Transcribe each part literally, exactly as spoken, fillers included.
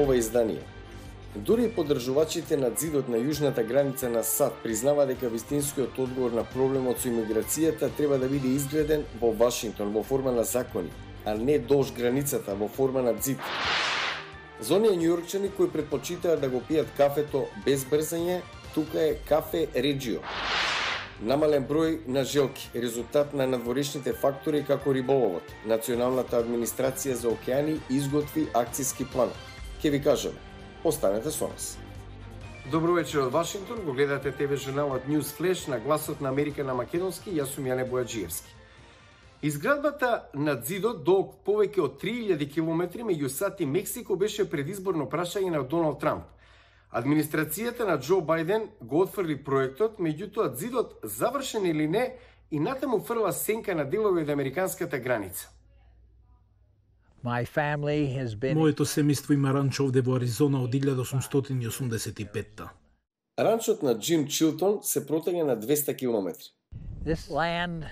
ова издание. Дури поддржувачите на ѕидот на јужната граница на САД признава дека вистинскиот одговор на проблемот со имиграцијата треба да биде изграден во Вашингтон во форма на закони, а не долж границата во форма на ѕид. За оние њујоркчани кои предпочитаат да го пијат кафето без брзање, тука е кафе Реджио. Намален број на желки, резултат на надворешните фактори како риболовот. Националната администрација за океани изготви акцијски план. Ке ви кажеме, останете со нас. Добро вечер од Вашингтон, го гледате ТВ журналот News Flash на гласот на Америка на македонски, јас сум Јане Бојаджиевски. Изградбата на ѕидот долг повеќе од три илјади километри меѓу САД и Мексико беше предизборно прашање на Доналд Трамп. Администрацијата на Џо Бајден го отфрли проектот, меѓутоа ѕидот завршен или не и натаму фрла сенка на делови од американската граница. Been... Моето семејство има ранчо овде во Аризона од илјада осумстотини и осумдесет и петта. Ранчот на Џим Чилтон се протега на двеста километри. This land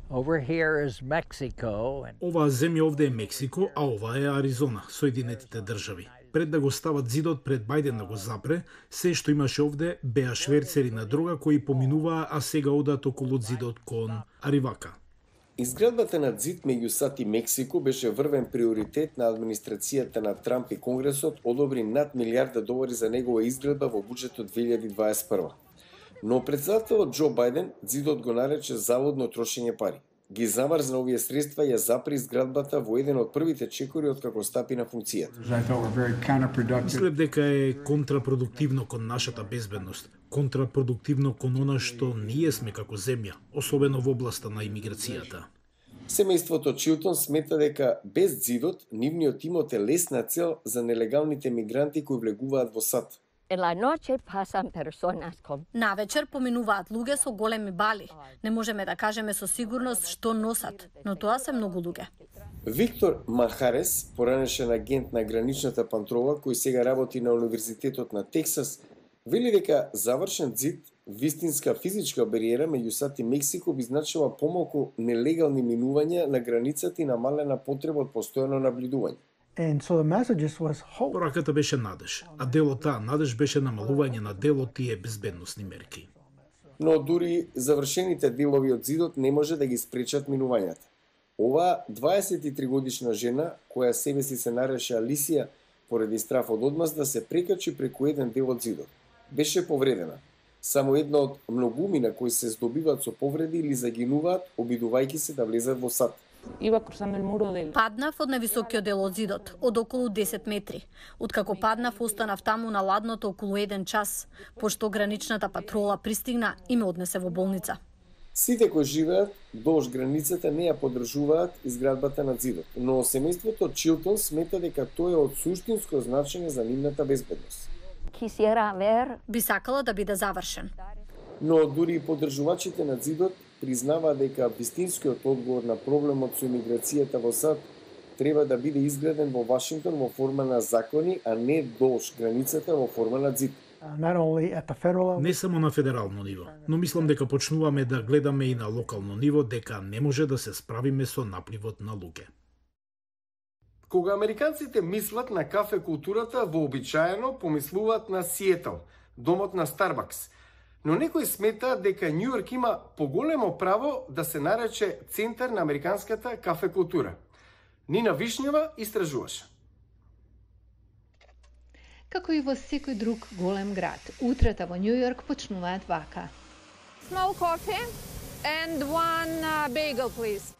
over here is Mexico and... Оваа земја овде е Мексико, а ова е Аризона, Соединетите држави. Пред да го стават ѕидот пред Бајден да го запре, се што имаше овде беа шверцери на дрога кои поминуваа, а сега одат околу ѕидот кон Аривака. Изградбата на ѕид меѓу САД и Мексико беше врвен приоритет на администрацијата на Трамп и Конгресот одобри над милијарда долари за негова изградба во буџетот две илјади дваесет и прва. Но председателот Џо Бајден ѕидот го нарече заводно трошење пари. Ги замрзна овие средства и ја запри изградбата во еден од првите чекори откако стапи на функцијата. Мислев дека е контрапродуктивно кон нашата безбедност, контрапродуктивно кон она што ние сме како земја, особено во областа на имиграцијата. Семејството Чилтон смета дека без ѕидот нивниот имот е лесна цел за нелегалните мигранти кои влегуваат во САД. Навечер поминуваат луѓе со големи бали. Не можеме да кажеме со сигурност што носат, но тоа се многу луѓе. Виктор Махарес, поранешен агент на граничната патрола кој сега работи на Универзитетот на Тексас, вели дека завршен ѕид, вистинска физичка бариера меѓу САД и Мексико би значила помалку нелегални минувања на границата и намалена потреба од постојано наблюдување. And so the message was hope. Пораката беше надеж, а дел од таа надеж беше намалување на дел од тие безбедносни мерки. Но дури завршените делови од ѕидот не може да ги спречат минувањата. Ова дваесет и три годишна жена, која себе си се нареше Алисија, поради страф од одмазда се прекачи преку еден дел од ѕидот. Беше повредена. Само една од многумина кои се здобиваат со повреди или загинуваат, обидувајќи се да влезат во САД. Паднав од највисокиот дел од ЗИДот, од околу десет метри. Откако паднав, останав таму на ладното околу еден час, пошто граничната патрола пристигна и ме однесе во болница. Сите кои живеат долж границата не ја поддржуваат изградбата на ЗИДот, но семејството Чилтон смета дека тоа е од суштинско значење за нивната безбедност. Би сакала да биде завршен. Но дури и поддржувачите на ЗИДот признава дека вистинскиот одговор на проблемот со имиграцијата во САД треба да биде изграден во Вашингтон во форма на закони, а не долж границата во форма на ЗИД. Не само на федерално ниво, но мислам дека почнуваме да гледаме и на локално ниво дека не може да се справиме со напливот на луѓе. Кога американците мислат на кафе културата, вообичаено помислуваат на Сиетл, домот на Старбакс. Но некои смета дека Њујорк има поголемо право да се нарече центар на американската кафе култура. Нина Вишњева истражуваше. Како и во секој друг голем град, утрата во Њујорк почнуваат вака. Small coffee and one uh, bagel, please.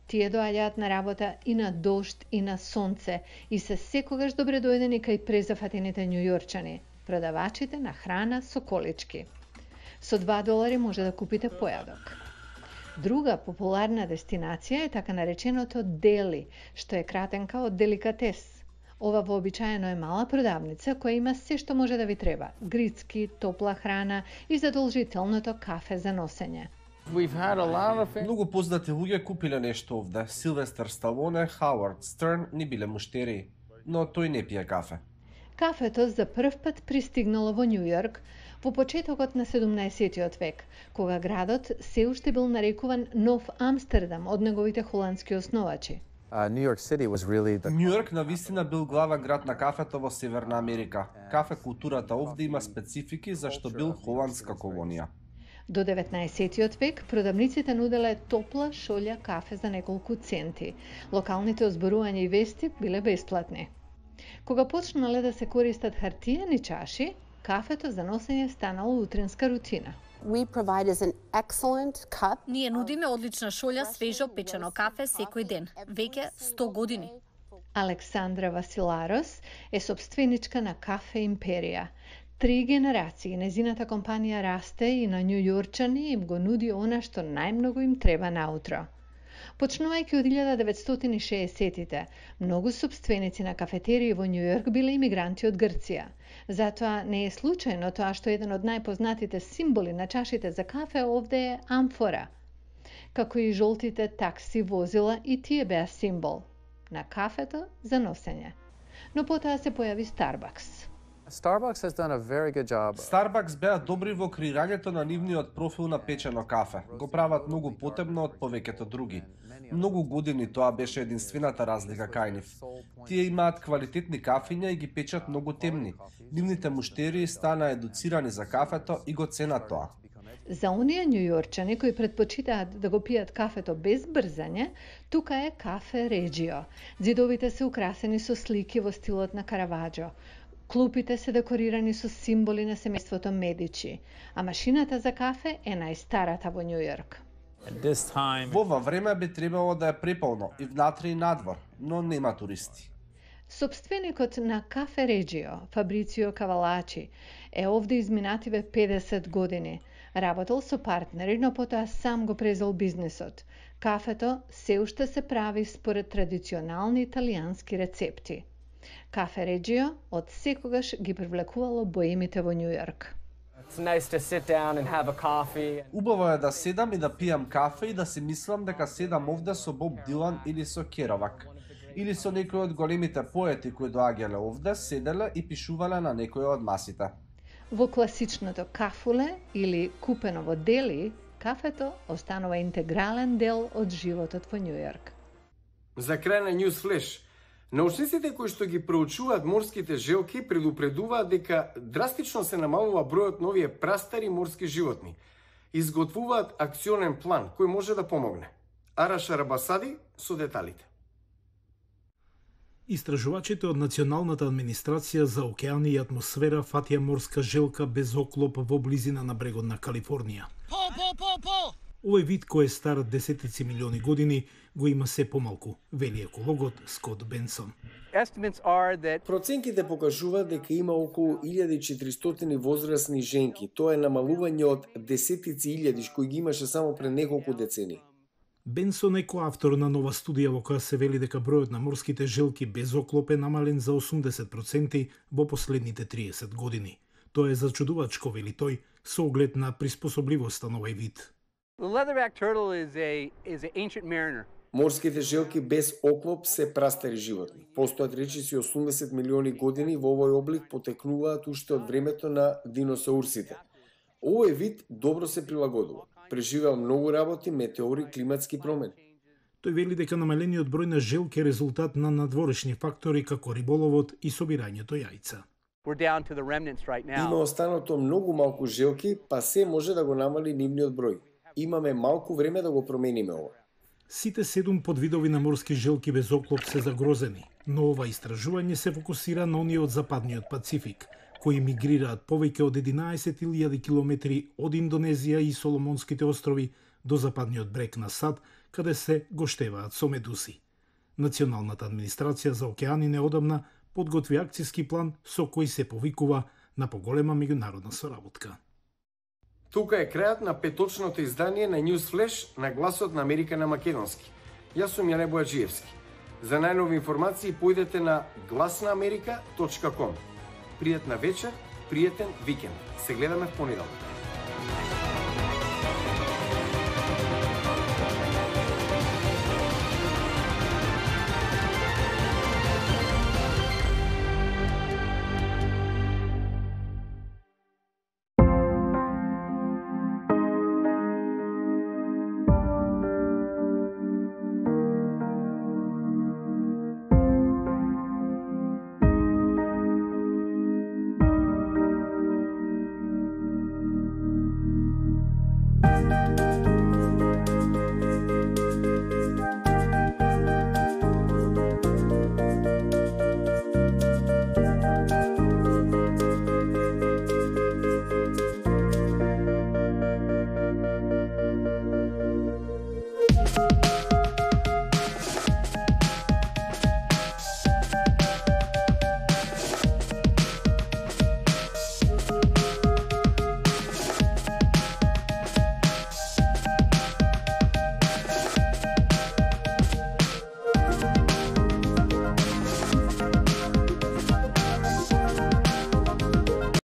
Тие доаѓаат на работа и на дожд и на сонце и се секогаш добре дојдени кај презафатените њујорчани, продавачите на храна со колички. Со два долари може да купите појадок. Друга популарна дестинација е така нареченото дели, што е кратенка од деликатес. Ова вообичаено е мала продавница која има се што може да ви треба: грицки, топла храна и задолжителното кафе за носење. Of... Многу познати луѓе купиле нешто овде. Силвестер Сталоне, Хауард Стерн ни биле муштери, но тој не пие кафе. Кафето за прв пат пристигнало во Њујорк во почетокот на седумнаесеттиот век, кога градот се уште бил нарекуван Нов Амстердам од неговите холандски основачи. Нью Йорк навистина бил главен град на кафето во Северна Америка. Кафе културата овде има специфики зашто бил холандска колонија. До деветнаесеттиот век продавниците нуделе топла шолја кафе за неколку центи. Локалните озборувања и вести биле бесплатни. Кога почнале да се користат хартиени чаши, кафето за носење станало утринска рутина. We provide as an excellent cup. Ние нудиме одлична шолја свежо печено кафе секој ден, веќе сто години. Александра Василарос е собственичка на Кафе Империја. Три генерации незината компанија расте и на њујорчани им го нуди она што најмногу им треба наутро. Почнувајќи од илјада деветстотини и шеесеттите, многу собственици на кафетерии во Њујорк биле имигранти од Грција. Затоа не е случајно тоа што еден од најпознатите символи на чашите за кафе овде е амфора. Како и жолтите такси возила, и тие беа символ на кафето за носење. Но потоа се појави Starbucks. Starbucks has done a very good job. Starbucks беа добри во креирањето на нивниот профил на печено кафе. Го прават многу потебно од повеќето други. Многу години тоа беше единствената разлика кај нив. Тие имаат квалитетни кафиња и ги печат многу темни. Нивните муштерии стана едуцирани за кафето и го ценат тоа. За оние њујорчани кои предпочитаат да го пијат кафето без брзање, тука е Кафе Реджио. Ѕидовите се украсени со слики во стилот на Караваџо. Клупите се декорирани со символи на семејството Медичи, а машината за кафе е најстарата во Њујорк. Во ова време би требало да е преполно и внатре и надвор, но нема туристи. Собственикот на Кафе Реджио, Фабрицио Кавалачи, е овде изминативе педесет години. Работел со партнери, но потоа сам го презел бизнисот. Кафето се уште се прави според традиционални италијански рецепти. Кафе Реджио од секогаш ги привлекувало боемите во Њујорк. Убаво е да седам и да пијам кафе и да си мислам дека седам овде со Боб Дилан или со Керовак. Или со некој од големите поети кои доаѓале овде, седеле и пишувале на некој од масите. Во класичното кафуле или купено во Дели, кафето останува интегрален дел од животот во Њујорк. За крај на News Flash, научниците кои што ги проучуваат морските желки предупредуваат дека драстично се намалува бројот на овие прастари морски животни. Изготвуваат акционен план кој може да помогне. Араша Рабасади со деталите. Истражувачите од Националната администрација за океани и атмосфера фатија морска желка без оклоп во близина на брегот на Калифорнија. По, по, по, по! Овој вид кој е стар десетици милиони години го има се помалку, вели екологот Скот Бенсон. Проценките покажуваат дека има околу илјада и четиристотини возрастни женки. Тоа е намалување од десетици илјади кои ги имаше само пред неколку децени. Бенсон е коавтор на нова студија во која се вели дека бројот на морските желки без оклоп е намален за осумдесет проценти во последните триесет години. Тоа е зачудувачко, вели тој, со оглед на приспособливоста на овој вид. Морските желки без оклоп се прастари животни. Постојат речиси осумдесет милиони години во овој облик потекнуваат уште од времето на диносаурсите. Овој вид добро се прилагодува. Преживеал многу работи, метеори, климатски промени. Тој вели дека намалениот број на желки е резултат на надворешни фактори како риболовот и собирањето јајца. Right Има останато многу малку желки, па се може да го намали нивниот број. Имаме малку време да го промениме ова. Сите седум подвидови на морски желки без оклоп се загрозени, но ова истражување се фокусира на оние од западниот Пацифик, кои мигрираат повеќе од единаесет илјади километри од Индонезија и Соломонските острови до западниот брег на САД, каде се гоштеваат со медуси. Националната администрација за океани неодамна подготви акцијски план со кој се повикува на поголема меѓународна соработка. Тука е крајот на петочното издание на News Flash на Гласот на Америка на македонски. Јас сум Јане Бојаджиевски. За најнови информации појдете на гласна америка точка ком. Пријатна вечер, пријатен викенд. Се гледаме в понеделник.